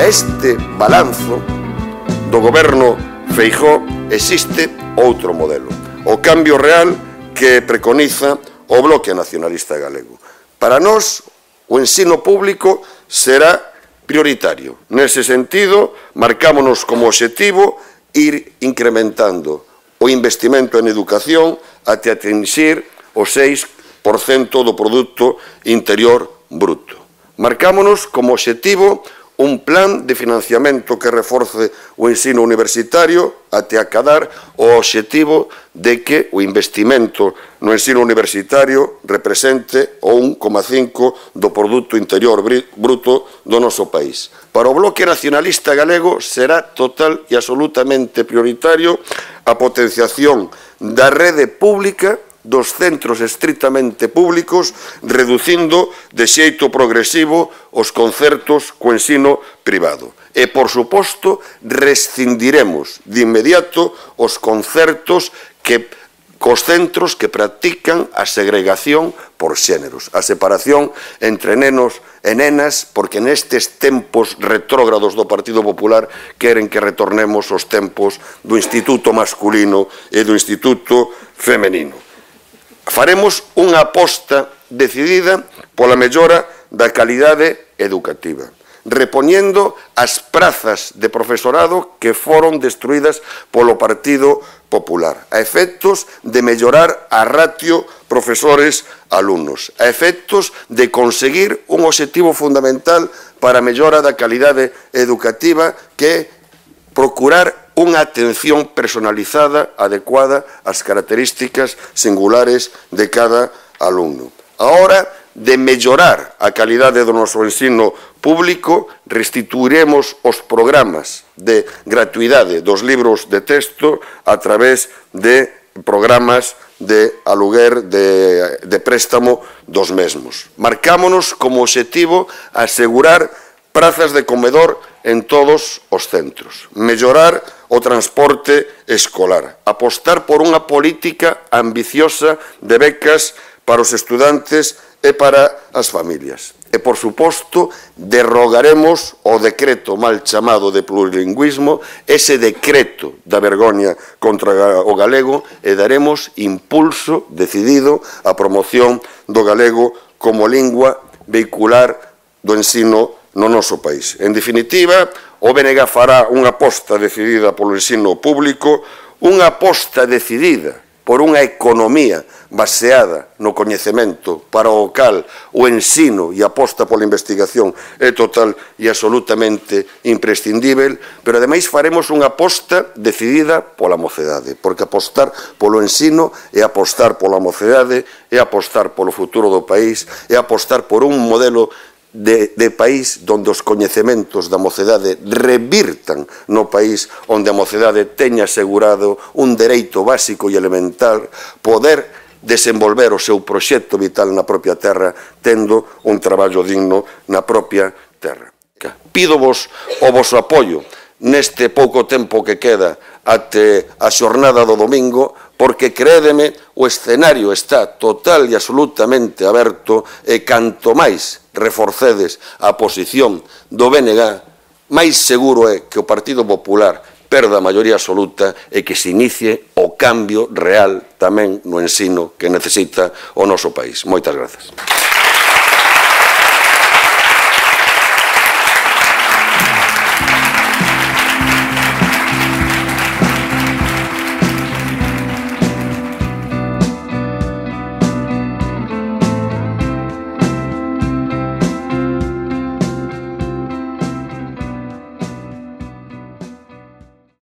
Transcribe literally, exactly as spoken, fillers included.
este balanzo do goberno Feijóo existe outro modelo, o cambio real que preconiza o Bloque Nacionalista Galego. Para nós, o ensino público será prioritario. Nese sentido, marcámonos como obxectivo ir incrementando o investimento en educación até atingir o seis por cento do Produto Interior Bruto. Marcámonos como obxectivo un plan de financiamento que reforce o ensino universitario até acadar o obxectivo de que o investimento no ensino universitario represente o un coma cinco do Produto Interior Bruto do noso país. Para o Bloque Nacionalista Galego será total e absolutamente prioritario a potenciación da rede pública dos centros estritamente públicos, reducindo de xeito progresivo os concertos co ensino privado. E, por suposto, rescindiremos de inmediato os concertos que cos centros que practican a segregación por xéneros, a separación entre nenos e nenas, porque nestes tempos retrógrados do Partido Popular queren que retornemos aos tempos do instituto masculino e do instituto femenino. Faremos unha aposta decidida pola mellora da calidade educativa, repoñendo as prazas de profesorado que foron destruídas polo Partido Popular, a efectos de mellorar a ratio profesores-alumnos, a efectos de conseguir un obxectivo fundamental para a mellora da calidade educativa, que é procurar unha atención personalizada adecuada ás características singulares de cada alumno. A hora de mellorar a calidade do noso ensino público, restituiremos os programas de gratuidade dos libros de texto a través de programas de aluguer, de, de préstamo dos mesmos. Marcámonos como obxectivo asegurar prazas de comedor en todos os centros, mellorar o transporte escolar, apostar por unha política ambiciosa de becas para os estudantes e para as familias. E, por suposto, derrogaremos o decreto mal chamado de plurilingüismo, ese decreto da vergoña contra o galego, e daremos impulso decidido á promoción do galego como lingua vehicular do ensino no noso país. En definitiva, o B N G fará unha aposta decidida polo ensino público, unha aposta decidida por unha economía baseada no coñecemento para o cal o ensino e a aposta pola investigación é total e absolutamente imprescindível, pero ademais faremos unha aposta decidida pola mocedade, porque apostar polo ensino é apostar pola mocedade, é apostar polo futuro do país, é apostar por un modelo De, de país onde os coñecementos da mocedade revirtan no país, onde a mocedade teña asegurado un dereito básico e elemental, poder desenvolver o seu proxecto vital na propia terra, tendo un traballo digno na propia terra. Pídovos o voso apoio neste pouco tempo que queda até a xornada do domingo, porque, créedeme, o escenario está total e absolutamente aberto, e canto máis reforcedes a posición do B N G, máis seguro é que o Partido Popular perda a maioría absoluta e que se inicie o cambio real tamén no ensino que necesita o noso país. Moitas grazas.